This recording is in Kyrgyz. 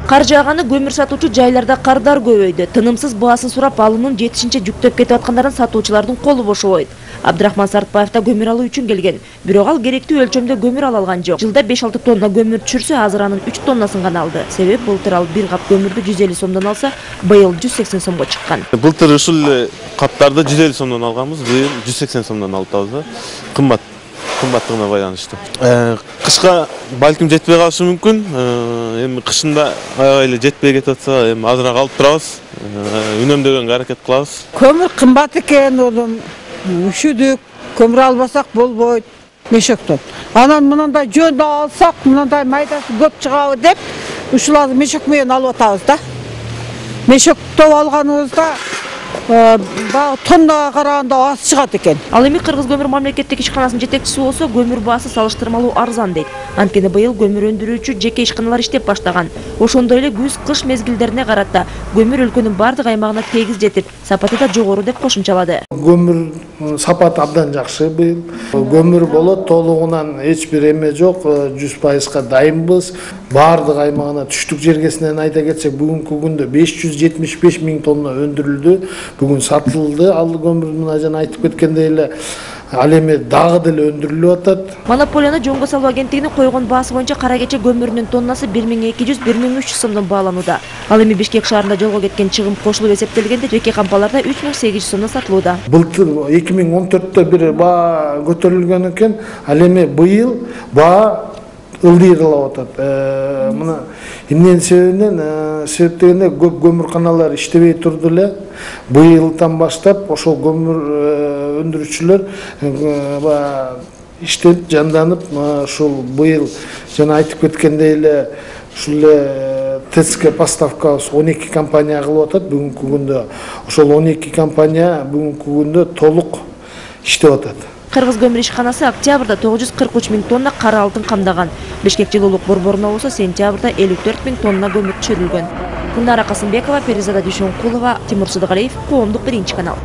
Кар жааганы көмүр сатуучу жайларда кардар көбөйдү. Тынымсыз баасын сурап алуунун жетишинче жүктөп кетип аткандарын сатуучулардын колу бошобойт. Абдрахман Сартбаев да көмүр алуу үчүн келген. Бирок ал керектүү өлчөмдө көмүр ала алган жок. Жылда 5-6 тонна көмүр түшүрсө, азыр анын 3 тоннасын гана алды. Себеп былтыр ал бир кап көмүрдү 150 сомдон алса, быйыл 180 сомго чыккан. Былтыр ушул каптарды 150 сомдон алганбыз, быйыл 180 сомдон алып атабыз. Кымбаттыгына байланыштуу. Кышка балким жетпей калышы мүмкүн. Эми кышында аябай эле жетпей кетип атса, эми азыраак алып турабыз. Үнөмдөгөнгө аракет кылабыз. Көмүр кымбат экен, улум. Үшүдүк, көмүр албасак болбойт, мешоктон. Анан мындай жөндө алсак, мындай майдасы көп чыгабы деп, ушуларды мешок менен алып атабыз да. Мешоктоп алганыбызда тоннага караганда аз чыгат экен. Ал эми Кыргыз көмүр мамлекеттик ишканасынын жетекчиси болсо, көмүр баасы салыштырмалуу арзан дейт. Анткени быйыл көмүр өндүрүүчү жеке ишканалар иштеп баштаган. Ошондой эле күз-кыш мезгилдерине карата көмүр өлкөнүн бардык аймагына тегиз жетип, сапаты да жогору деп кошумчалады. Көмүр сапаты абдан жакшы быйыл. Көмүр болот, толугунан эч бир эме жок, 100%га дайынбыз. Бардык аймагына түштүк жергесинен айта кетсек, бүгүнкү күндө 575 миң тонна өндүрүлдү. Бүгүн сатылды, ал көмүр мына жана айтып кеткендей эле ал эми дагы деле өндүрүлүп атат. Монополияны жөнгө салуу агенттигинин койгон баасы боюнча кара кече көмүрүнүн тоннасы 1200–1300 сомдон бааланууда. Ал эми Бишкек шаарында жолго кеткен чыгым кошулуп эсептелгенде жеке кампаларда 3800 сомдон сатылууда. Былтыр 2014-тө бир баа көтөрүлгөн экен, ал эми быйыл баа ылдыйрылап атат. Мына эмненин себептегенде көп көмүрканалар иштебей турду эле. Быйылдан баштап ошол көмүр өндүрүүчүлөр иштеп жанданып, ушул быйыл жана айтып кеткендей эле ушул эле ТСК поставкабыз 12 компания кылып атат бүгүнкү күндө. Ошол 12 компания бүгүнкү күндө толук иштеп атат. Кыргыз көмүр ишканасы октябрда 943 миң тонна кара алтын камдаган. Бишкек жылуулук борборуна болсо сентябрда 54 миң тонна көмүр түшүрүлгөн. Гүлнара Касымбекова, Перизада Дүйшөнкулова, Тимур Сыдыгалиев, Коомдук 1-канал.